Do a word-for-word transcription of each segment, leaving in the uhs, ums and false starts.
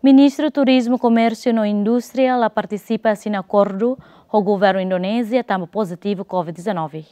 Ministru Turizmu, Komérsiu no Indústria la partisipa asina akordu ho governu Indonézia tanba pozitivu COVID dezanove.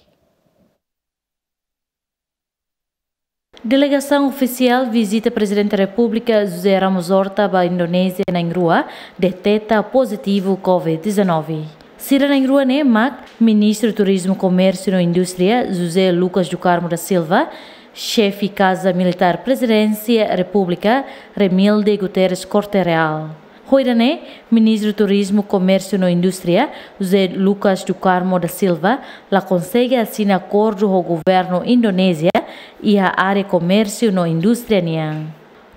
Delegasaun ofisiál vizita Prezidente Repúblika José Ramos Horta ba Indonézia na'in-rua deteta pozitivu COVID dezanove. Sira na'in-rua ne'e mak Ministru Turizmu, Komérsiu no Indústria José Lucas do Carmo da Silva, Xefe Kaza Militár Prezidénsia Repúblika Remilde Guterres Corte Real. Ho ida-ne'e, Ministru Turizmu, Komérsiu no Indústria José Lucas do Carmo da Silva la konsege asina akordu ho governu Indonézia iha área komérsiu no indústria nian.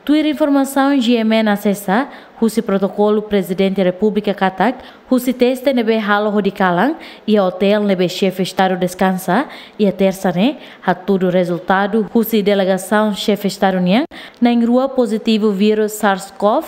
Tuir informasaun GMN asesa, husi protokolu Prezidente Repúblika katak, husi teste ne'ebé halo hodi kalan iha otél ne'ebé Xefe Estadu deskansa iha Tersa ne'e, hatudu rezultadu husi delegasaun Xefe Estadu nian na'in-rua pozitivu vírus SARS-CoV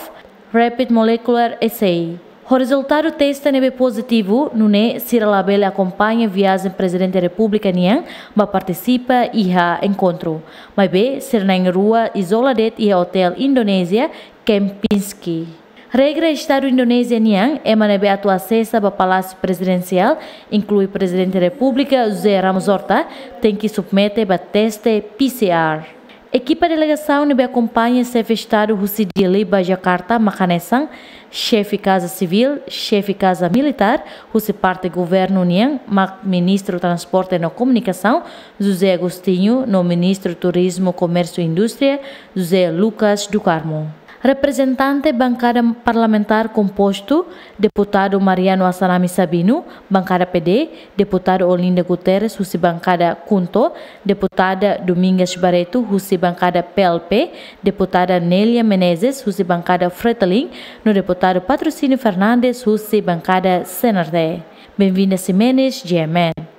Rapid Molecular Assay. Ho rezultadu teste ne'ebé pozitivu, nune'e sira labele akompaña viajen Prezidente Repúblika nian ba partisipa iha enkontru. Maibé, sira na'in-rua izola de'it iha otél Indonézia Kempinski. Regra Estadu Indonézia nian, ema ne'ebé atu asesa ba Palásiu Prezidensiál, inklui Prezidente Repúblika José Ramos Horta, tenke submete ba teste PCR. Ekipa delegasaun ne'ebé akompaña Xefe Estadu husi Dili ba Jakarta mak hanesan Xefe Kaza Sivíl, Xefe Kaza Militár, husi parte governu nian mak Ministru Transporte no Komunikasaun José Agostinho no Ministru Turizmu, Komérsiu no Indústria José Lucas do Carmo. Reprezentante bankada parlamentár kompostu deputadu Mariano Assanami Sabino, bankada PD, deputadu Olinda Guterres husi bankada KHUNTO, deputada Domingas Barreto husi bankada PLP, deputada Nélia Menezes husi bankada Fretilin, no deputadu Patrocínio Fernandes husi bankada CNRT. Benvinda Ximenes, GMN.